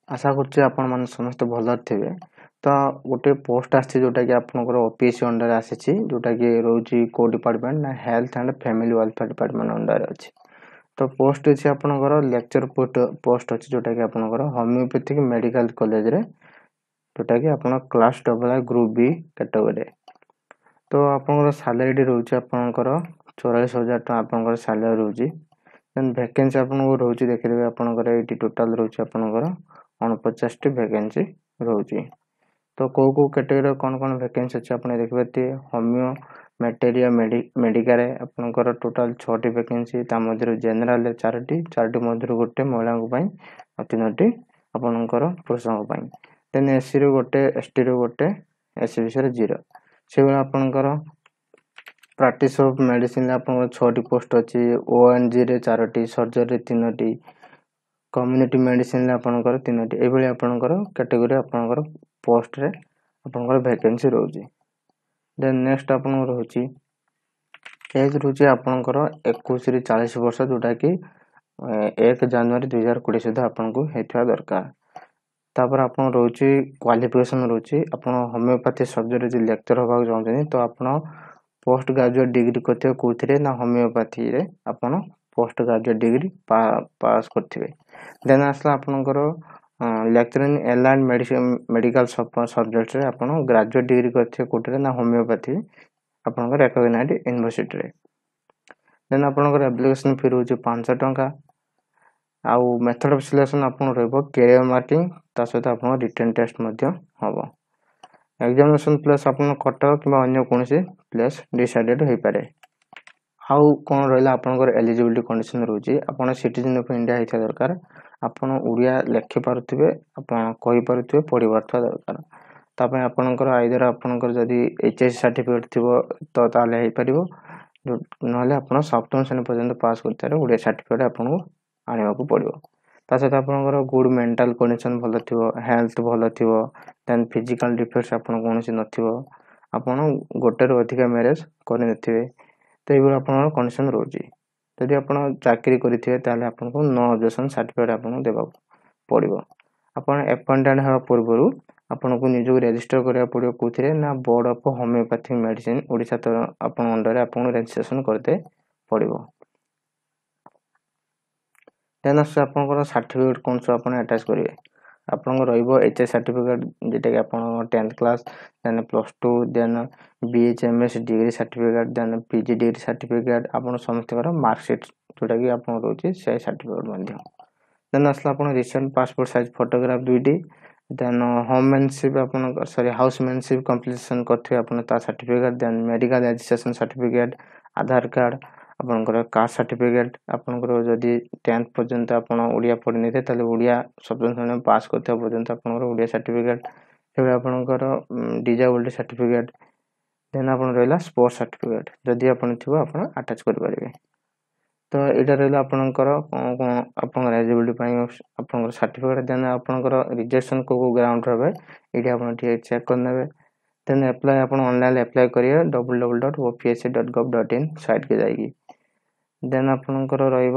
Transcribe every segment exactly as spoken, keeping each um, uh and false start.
ଆଶା କରୁଛି ଆପଣମାନେ ସମସ୍ତେ ଭଲରେ ଥିବେ। ତ ଗୋଟେ ପୋଷ୍ଟ ଆସିଛି, ଯେଉଁଟାକି ଆପଣଙ୍କର ଓ ପି ଏସ୍ ସି ଅଣ୍ଡରରେ ଆସିଛି, ଯେଉଁଟାକି ରହୁଛି କେଉଁ ଡିପାର୍ଟମେଣ୍ଟ ନା health and family welfare department ଅଣ୍ଡରରେ ଅଛି। ତ ପୋଷ୍ଟ ଅଛି ଆପଣଙ୍କର ଲେକ୍ଚର ପୋଷ୍ଟ ପୋଷ୍ଟ ଅଛି, ଯେଉଁଟାକି ଆପଣଙ୍କର ହୋମିଓପାଥିକ୍ ମେଡ଼ିକାଲ କଲେଜରେ, ଯେଉଁଟାକି ଆପଣ class double I group B କ୍ୟାଟେଗୋରୀରେ। ତ ଆପଣଙ୍କର ସାଲାରୀଟି ରହୁଛି ଆପଣଙ୍କର ଚଉରାଳିଶ ହଜାର ଟଙ୍କା ଆପଣଙ୍କର ସାଲାରୀ ରହୁଛି। ଦେନ୍ ଭ୍ୟାକେନ୍ସି ଆପଣଙ୍କର ରହୁଛି, ଦେଖିଦେବେ, ଆପଣଙ୍କର ଏଇଠି ଟୋଟାଲ୍ ରହୁଛି ଆପଣଙ୍କର ଅଣପଚାଶଟି ଭ୍ୟାକେନ୍ସି ରହୁଛି। ତ କେଉଁ କେଉଁ କ୍ୟାଟେଗୋରୀର କ'ଣ କ'ଣ ଭ୍ୟାକେନ୍ସି ଅଛି ଆପଣ ଦେଖିପାରୁଥିବେ। ହୋମିଓ ମେଟେରିଆ ମେଡ଼ିକାରେ ଆପଣଙ୍କର ଟୋଟାଲ୍ ଛଅଟି ଭ୍ୟାକେନ୍ସି, ତା ମଧ୍ୟରୁ ଜେନେରାଲରେ ଚାରୋଟି, ଚାରୋଟି ମଧ୍ୟରୁ ଗୋଟେ ମହିଳାଙ୍କ ପାଇଁ ଆଉ ତିନୋଟି ଆପଣଙ୍କର ପୁରୁଷଙ୍କ ପାଇଁ। ଦେନ୍ ଏସ୍ସିରୁ ଗୋଟେ, ଏସ୍ଟିରୁ ଗୋଟେ, ଏସ୍ ବି ସିରେ ଜିରୋ। ସେଭଳି ଆପଣଙ୍କର ପ୍ରାକ୍ଟିସ୍ ଅଫ୍ ମେଡ଼ିସିନରେ ଆପଣଙ୍କର ଛଅଟି ପୋଷ୍ଟ ଅଛି, ଓ ଏନ୍ ଜିରେ ଚାରୋଟି, ସର୍ଜରୀରେ ତିନୋଟି, କମ୍ୟୁନିଟି ମେଡ଼ିସିନରେ ଆପଣଙ୍କର ତିନୋଟି। ଏଇଭଳି ଆପଣଙ୍କର କ୍ୟାଟେଗୋରୀ ଆପଣଙ୍କର ପୋଷ୍ଟରେ ଆପଣଙ୍କର ଭ୍ୟାକେନ୍ସି ରହୁଛି। ଦେନ୍ ନେକ୍ସଟ ଆପଣଙ୍କର ରହୁଛି ଏଜ୍ ରହୁଛି ଆପଣଙ୍କର ଏକୋଇଶରୁ ଚାଳିଶ ବର୍ଷ, ଯେଉଁଟାକି ଏକ ଜାନୁଆରୀ ଦୁଇ ହଜାର କୋଡ଼ିଏ ସୁଦ୍ଧା ଆପଣଙ୍କୁ ହେଇଥିବା ଦରକାର। ତାପରେ ଆପଣ ରହୁଛି କ୍ୱାଲିଫିକେସନ୍ ରହୁଛି, ଆପଣ ହୋମିଓପାଥି ସବଜେକ୍ଟ ଯଦି ଲେକ୍ଚର ହେବାକୁ ଚାହୁଁଛନ୍ତି, ତ ଆପଣ ପୋଷ୍ଟ ଗ୍ରାଜୁଏଟ୍ ଡିଗ୍ରୀ କରିଥିବେ। କେଉଁଥିରେ ନା ହୋମିଓପାଥିରେ ଆପଣ ପୋଷ୍ଟ ଗ୍ରାଜୁଏଟ୍ ଡିଗ୍ରୀ ପାସ୍ କରିଥିବେ। ଦେନ୍ ଆସିଲା ଆପଣଙ୍କର ଲେକ୍ଚର ଇନ୍ ଏଲାଇଡ୍ ମେଡ଼ିକାଲ ସବଜେକ୍ଟରେ ଆପଣ ଗ୍ରାଜୁଏଟ୍ ଡିଗ୍ରୀ କରିଥିବେ। କେଉଁଥିରେ ନା ହୋମିଓପାଥି ଆପଣଙ୍କର ରେକଗ୍ନାଇଜ୍ ୟୁନିଭର୍ସିଟିରେ। ଦେନ୍ ଆପଣଙ୍କର ଆପ୍ଲିକେସନ୍ ଫି ରହୁଛି ପାଞ୍ଚଶହ ଟଙ୍କା। ଆଉ ମେଥଡ଼ ଅଫ୍ ସିଲେକ୍ସନ୍ ଆପଣ ରହିବ କ୍ୟାରିୟର ମାର୍କିଂ, ତା ସହିତ ଆପଣଙ୍କ ରିଟେନ୍ ଟେଷ୍ଟ ମଧ୍ୟ ହେବ। ଏକ୍ଜାମିନେସନ୍ ପ୍ଲେସ୍ ଆପଣ କଟକ କିମ୍ବା ଅନ୍ୟ କୌଣସି ପ୍ଲେସ୍ ଡିସାଇଡ଼େଡ଼ ହୋଇପାରେ। ଆଉ କ'ଣ ରହିଲା? ଆପଣଙ୍କର ଏଲିଜିବିଲିଟି କଣ୍ଡିସନ୍ ରହୁଛି, ଆପଣ ସିଟିଜେନ୍ ଅଫ୍ ଇଣ୍ଡିଆ ହେଇଥିବା ଦରକାର, ଆପଣ ଓଡ଼ିଆ ଲେଖିପାରୁଥିବେ, ଆପଣ କହିପାରୁଥିବେ, ପଢ଼ିପାରୁଥିବା ଦରକାର। ତା ପାଇଁ ଆପଣଙ୍କର ଆଇଦର ଆପଣଙ୍କର ଯଦି ଏଚ୍ ଏସ୍ ସାର୍ଟିଫିକେଟ୍ ଥିବ ତ ତାହେଲେ ହେଇପାରିବ, ନହେଲେ ଆପଣ ସପ୍ତମ ଶ୍ରେଣୀ ପର୍ଯ୍ୟନ୍ତ ପାସ୍ କରିଥିବାରୁ ଓଡ଼ିଆ ସାର୍ଟିଫିକେଟ୍ ଆପଣଙ୍କୁ ଆଣିବାକୁ ପଡ଼ିବ। ତା ସହିତ ଆପଣଙ୍କର ଗୁଡ୍ ମେଣ୍ଟାଲ୍ କଣ୍ଡିସନ୍ ଭଲ ଥିବ, ହେଲ୍ଥ ଭଲ ଥିବ, ଦେନ୍ ଫିଜିକାଲ୍ ଡିଫେକ୍ଟସ୍ ଆପଣ କୌଣସି ନଥିବ, ଆପଣ ଗୋଟେରୁ ଅଧିକା ମ୍ୟାରେଜ୍ କରିନଥିବେ। ତ ଏଇଭଳି ଆପଣଙ୍କର କଣ୍ଡିସନ୍ ରହୁଛି। ଯଦି ଆପଣ ଚାକିରି କରିଥିବେ, ତାହେଲେ ଆପଣଙ୍କୁ ନୋ ଅବଜେକ୍ସନ୍ ସାର୍ଟିଫିକେଟ୍ ଆପଣଙ୍କୁ ଦେବାକୁ ପଡ଼ିବ। ଆପଣ ଆପଏଣ୍ଟେଡ଼ ହେବା ପୂର୍ବରୁ ଆପଣଙ୍କୁ ନିଜକୁ ରେଜିଷ୍ଟର କରିବାକୁ ପଡ଼ିବ। କେଉଁଥିରେ ନା board of homoeopathic medicine Odisha ତ ଆପଣଙ୍କ ଅଣ୍ଡରରେ ଆପଣଙ୍କୁ ରେଜିଷ୍ଟ୍ରେସନ୍ କରିତେ ପଡ଼ିବ। ଦେନ୍ ଆସୁଛି ଆପଣଙ୍କର ସାର୍ଟିଫିକେଟ୍ କ'ଣ ସବୁ ଆପଣ ଆଟାଚ୍ କରିବେ। ଆପଣଙ୍କର ରହିବ ଏଚ୍ ଏସ୍ ସାର୍ଟିଫିକେଟ୍, ଯେଉଁଟାକି ଆପଣଙ୍କ tenth class, then plus two, then B H M S degree certificate, then P G degree certificate, ଆପଣ ସମସ୍ତଙ୍କର ମାର୍କସିଟ୍ ଯେଉଁଟାକି ଆପଣଙ୍କର ରହୁଛି ସେଇ ସାର୍ଟିଫିକେଟ୍ ମଧ୍ୟ। ଦେନ୍ ଆସିଲା ଆପଣ ରିସେଣ୍ଟ ପାସପୋର୍ଟ ସାଇଜ୍ ଫଟୋଗ୍ରାଫ ଦୁଇଟି, ଦେନ୍ ହୋମ୍ ମ୍ୟାନସିପ୍ ଆପଣଙ୍କ ସରି ହାଉସ୍ ମ୍ୟାନସିପ୍ କମ୍ପ୍ଲିସନ୍ କରିଥିବେ ଆପଣ ତା ସାର୍ଟିଫିକେଟ୍, ଦେନ୍ ମେଡ଼ିକାଲ ରେଜିଷ୍ଟ୍ରେସନ୍ ସାର୍ଟିଫିକେଟ୍, ଆଧାର କାର୍ଡ଼, ଆପଣଙ୍କର କାଷ୍ଟ ସାର୍ଟିଫିକେଟ୍। ଆପଣଙ୍କର ଯଦି ଟେନ୍ଥ ପର୍ଯ୍ୟନ୍ତ ଆପଣ ଓଡ଼ିଆ ପଢ଼ିନେଇଥିବେ, ତାହେଲେ ଓଡ଼ିଆ ସପ୍ତମ ଶ୍ରେଣୀ ପାସ୍ କରିଥିବା ପର୍ଯ୍ୟନ୍ତ ଆପଣଙ୍କର ଓଡ଼ିଆ ସାର୍ଟିଫିକେଟ୍। ସେଭଳି ଆପଣଙ୍କର ଡିଜାବିଲିଟି ସାର୍ଟିଫିକେଟ୍। ଦେନ୍ ଆପଣ ରହିଲା ସ୍ପୋର୍ଟସ୍ ସାର୍ଟିଫିକେଟ୍, ଯଦି ଆପଣ ଥିବ ଆପଣ ଆଟାଚ୍ କରିପାରିବେ। ତ ଏଇଟା ରହିଲା ଆପଣଙ୍କର କ'ଣ କ'ଣ ଆପଣଙ୍କର ଏଲିଜିବିଲିଟି ପାଇଁ ଆପଣଙ୍କର ସାର୍ଟିଫିକେଟ୍। ଦେନ୍ ଆପଣଙ୍କର ରିଜେକ୍ସନ୍ କେଉଁ କେଉଁ ଗ୍ରାଉଣ୍ଡ ହେବେ, ଏଇଠି ଆପଣ ଟିକେ ଚେକ୍ କରିନେବେ। ଦେନ୍ ଆପ୍ଲାଏ ଆପଣ ଅନଲାଇନ୍ ଆପ୍ଲାଏ କରିବେ W W dot O P S C dot gov dot in ସାଇଟ୍କି ଯାଇକି। ଦେନ୍ ଆପଣଙ୍କର ରହିବ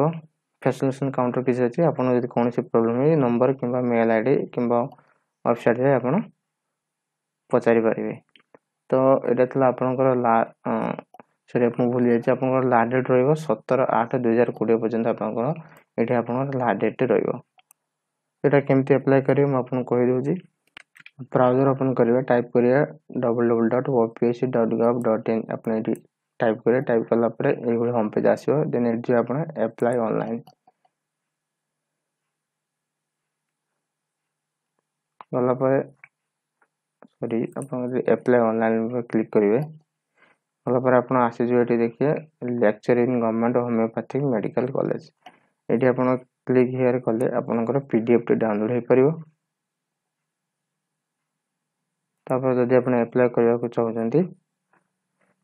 ଫ୍ୟାସିଲିଟେସନ୍ କାଉଣ୍ଟର କିଛି ଅଛି, ଆପଣ ଯଦି କୌଣସି ପ୍ରୋବ୍ଲେମ୍ ହୁଏ ନମ୍ବର କିମ୍ବା ମେଲ୍ I D କିମ୍ବା ୱେବସାଇଟ୍ରେ ଆପଣ ପଚାରି ପାରିବେ। ତ ଏଇଟା ଥିଲା ଆପଣଙ୍କର ଲା ସରି, ମୁଁ ଭୁଲି ଯାଇଛି, ଆପଣଙ୍କର ଲାଷ୍ଟ ଡେଟ୍ ରହିବ ସତର ଆଠ ଦୁଇ ହଜାର କୋଡ଼ିଏ ପର୍ଯ୍ୟନ୍ତ। ଆପଣଙ୍କର ଏଇଠି ଆପଣଙ୍କର ଲାଷ୍ଟ ଡେଟ୍ ରହିବ। ଏଇଟା କେମିତି ଆପ୍ଲାଏ କରିବେ ମୁଁ ଆପଣଙ୍କୁ କହିଦେଉଛି। ବ୍ରାଉଜର ଓପନ୍ କରିବେ, ଟାଇପ୍ କରିବେ W W dot O P S C dot gov dot in. ଆପଣ ଏଇଠି ଟାଇପ୍ କରିବେ। ଟାଇପ୍ କଲା ପରେ ଏଇଭଳି ହୋମ୍ ପେଜ୍ ଆସିବ। ଦେନ୍ ଏଠି ଯିବେ ଆପଣ ଆପ୍ଲାଏ ଅନଲାଇନ୍ ଗଲା ପରେ, ସରି, ଆପଣ ଯଦି ଆପ୍ଲାଏ ଅନଲାଇନ୍ ଉପରେ କ୍ଲିକ୍ କରିବେ, ଗଲା ପରେ ଆପଣ ଆସିଯିବେ ଏଠି ଦେଖିବେ lecture in government homeopathic medical college. ଏଠି ଆପଣ କ୍ଲିକ୍ here କଲେ ଆପଣଙ୍କର ପି ଡି ଏଫ୍ଟି ଡାଉନଲୋଡ଼ ହୋଇପାରିବ। ତାପରେ ଯଦି ଆପଣ ଆପ୍ଲାଏ କରିବାକୁ ଚାହୁଁଛନ୍ତି,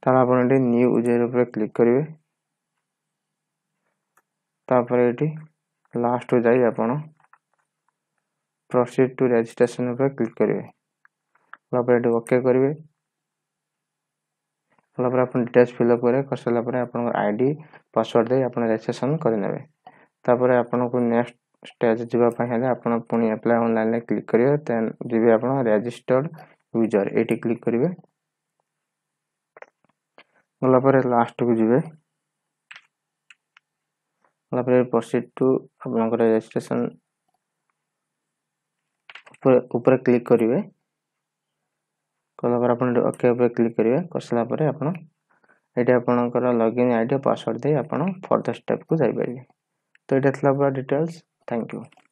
ତାହେଲେ ଆପଣ ଏଠି ନ୍ୟୁ ୟୁଜର୍ ଉପରେ କ୍ଲିକ୍ କରିବେ। ତାପରେ ଏଠି ଲାଷ୍ଟକୁ ଯାଇ ଆପଣ ପ୍ରୋସିଡ୍ ଟୁ ରେଜିଷ୍ଟ୍ରେସନ୍ ଉପରେ କ୍ଲିକ୍ କରିବେ। ତାପରେ ଏଠି ଓକେ କରିବେ। କଲା ପରେ ଆପଣ ଡିଟେଲ୍ସ ଫିଲ୍ଅପ୍ କରିବେ। କରିସାରିଲା ପରେ ଆପଣଙ୍କ I D password ଦେଇ ଆପଣ ରେଜିଷ୍ଟ୍ରେସନ୍ କରିନେବେ। ତାପରେ ଆପଣଙ୍କୁ ନେକ୍ସଟ ଷ୍ଟେଜ୍ ଯିବା ପାଇଁ ହେଲେ ଆପଣ ପୁଣି ଆପ୍ଲାଏ ଅନଲାଇନ୍ରେ କ୍ଲିକ୍ କରିବେ। ଦେନ୍ ଯିବେ ଆପଣ ରେଜିଷ୍ଟର୍ଡ ୟୁଜର୍, ଏଇଠି କ୍ଲିକ୍ କରିବେ। ଗଲା ପରେ ଲାଷ୍ଟକୁ ଯିବେ। ଗଲା ପରେ ପ୍ରୋସିଡ୍ ଟୁ ଆପଣଙ୍କର ରେଜିଷ୍ଟ୍ରେସନ୍ ଉପରେ ଉପରେ କ୍ଲିକ୍ କରିବେ। କଲା ପରେ ଆପଣ ଓକେ ଉପରେ କ୍ଲିକ୍ କରିବେ। କରିସାରିଲା ପରେ ଆପଣ ଏଇଠି ଆପଣଙ୍କର ଲଗ୍ଇନ୍ I D, password ଦେଇ ଆପଣ ଫର୍ଦର ଷ୍ଟେପ୍କୁ ଯାଇପାରିବେ। ତ ଏଇଟା ଥିଲା ପୁରା ଡିଟେଲ୍ସ। Thank you.